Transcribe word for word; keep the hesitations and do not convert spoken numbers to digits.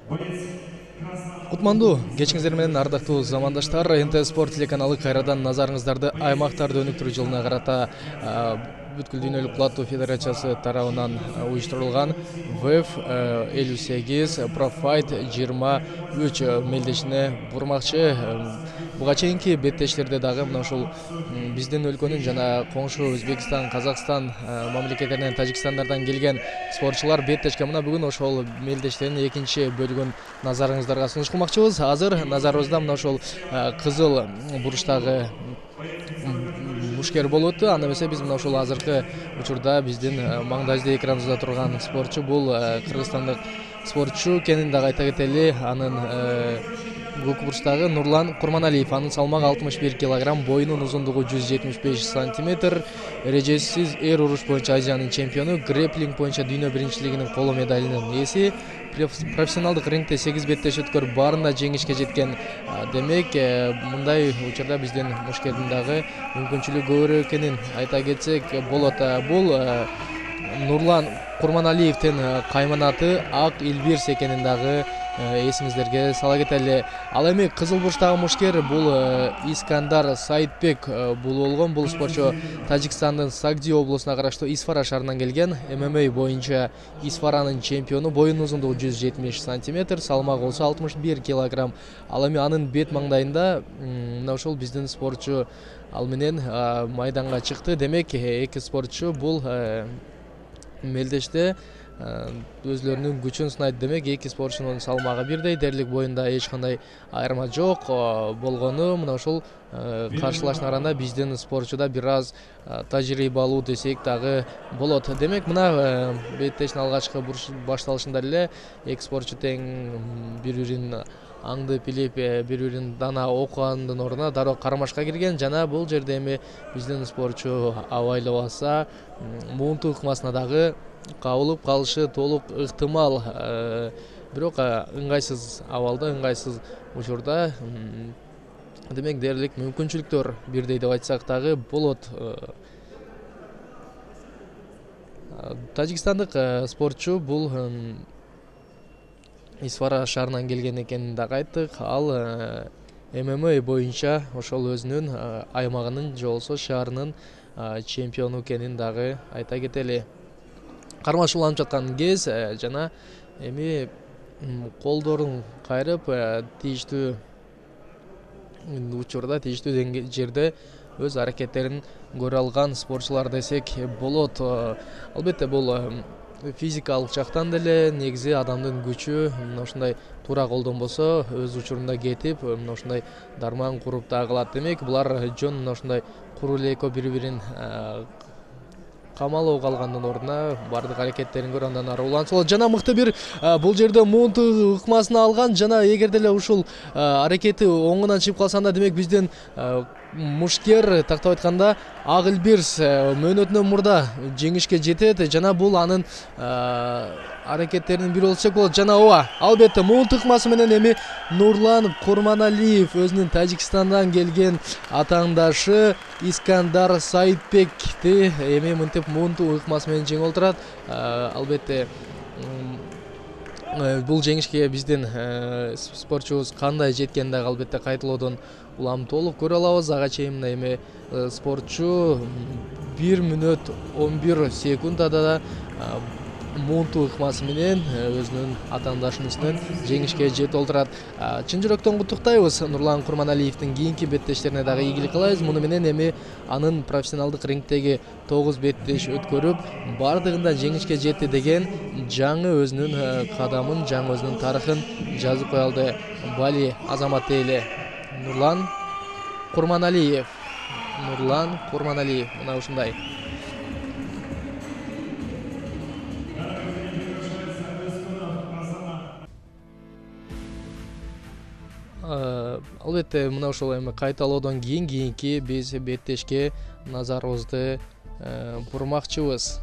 Кутмандуу кечиңиздер менен ардактуу замандаштар, эн тэ спорт телеканалы кайрадан назарыңыздарды аймактарды өнүктүрүү жылына карата бүткүл дүйнөлүк платтуу федерациясы тарабынан уюштурулган вэ эф элүү сегиз профайт жыйырма үч мелдешине бурмакчы. Буга чейинки беттештерде дагы мына ушул биздин өлкөнүн жана коңшу Өзбекстан, Казакстан мамлекеттеринен, Тажикстандардан келген спортчулар беттешке. Мына бүгүн ошол мелдештердин экинчи бөлүгүн назарыңыздарга сунуш кылмакчыбыз. Азыр назарыбызда мына ошол кызыл буручтагы мушкер болуп өттү. Анда эмесе биз мына ушул азыркы учурда биздин маңдайыбызда экраныбызда турган спортчу бул кыргызстандык спортчу экенин дагы айта кетели. Анын көк бурчтагы Нурлан Курманалиев. Анын салмагы алтымыш бир килограмм, боюнун узундугу жүз жетимиш беш сантиметр. Эрежесиз эр уруш боюнча Азиянын чемпиону, грэплинг боюнча дүйнө биринчилигинин коло медалинин ээси. Профессионалдык рингте сегиз беттеш өткөрүп баарында жеңишке жеткен. Демек, мындай учурда биздин мушкердин дагы мүмкүнчүлүгү көбүрөөк экенин айта кетсек болот. Бул Нурлан Курманалиевдин кайманаты Ак Илбирс экенин дагы эсиңиздерге сала кетели. Ал эми кызыл бурчтагы мушкер бул Искандар Сайтбек бул болгон. Бул спортчу Тажикстандын Сагди облусуна караштуу Исфара шаарынан келген. эм эм а боюнча Исфаранын чемпиону, боюнун узундугу жүз жетимиш сантиметр, салмагы болсо алтымыш бир килограмм. Ал эми анын бет маңдайында мына ушул биздин спортчу ал менен майданга чыкты. Демек, эки спортчу бул мелдеште өзлөрүнүн күчүн сынайт. Демек, эки спортчунун салмагы бирдей, дээрлик боюнда эч кандай айырма жок болгону мына ушул каршылашуулар арасында биздин спортчуда бир аз тажрыйбалуу десек дагы болот. Демек, мына беттештин алгачкы башталышында эле эки спортчу тең бири-бирин аңды билип, бири-бирин дана окугандын ордуна дароо кармашка кирген. Жана бул жерде эми биздин спортчу абайлабаса муунту ыкмасына дагы кабылып калышы толук ыктымал. Бирок ыңгайсыз абалда, ыңгайсыз учурда. Демек, дээрлик мүмкүнчүлүктөр бирдей деп айтсак дагы болот. Тажикстандык спортчу бул Исфара шаарынан келген экенин дагы айттык. Ал эм эм а боюнча ошол өзүнүн аймагынын же болбосо шаарынын чемпиону экенин дагы айта кетели. Кармашууланып жаткан кез жана эми колдорун кайрып тийиштүү учурда, тийиштүү жерде өз аракеттерин көрө алган спортчулар десек болот. Албетте, бул физикалык жактан деле негизи адамдын күчү мына ушундай туура колдонбосо өз учурунда кетип, мына ушундай дарман куруп дагы калат. Демек, булар жөн мына ушундай куру эле экөө бири-бирин камалоо калгандын ордуна баардык аракеттерин көрүп андан ары уланса болот. Жана мыкты бир бул жерде муунту ыкмасына алган. Жана эгер деле ушул аракети оңунан чыгып калса анда демек биздин мушкер тактап айтканда Ак Илбирс мөөнөтүнөн мурда жеңишке жетет. Жана бул анын аракеттеринин бири болсок болот. Жана ооба, албетте муунту ыкмасы менен эми Нурлан Курманалиев өзүнүн Тажикстандан келген атаандашы Искандар Сайтбекти эми мынтип муунту ыкмасы менен жеңип отурат. Албетте, бул жеңишке биздин спортчубуз кандай жеткенин дагы албетте кайталоодон улам толук көрө алабыз. Ага чейин мына эми спортчу бир мүнөт он бир секундада да муунту ыкмасы менен өзүнүн атаандашынын үстүнөн жеңишке жетип отурат. Чын жүрөктөн куттуктайбыз Нурлан Курманалиевдин кийинки беттештерине дагы ийгилик каалайбыз. Муну менен эми анын профессионалдык рингтеги тогуз беттеш өткөрүп баардыгында жеңишке жетти деген жаңы өзүнүн кадамын, жаңы өзүнүн тарыхын жазып кое алды. Бали азамат дейли. Нурлан Курманалиев. Нурлан Курманалиев мына ушундай. Албетте, мына ошол эми кайталоодон кийин кийинки биз беттешке назарыбызды бурмакчыбыз.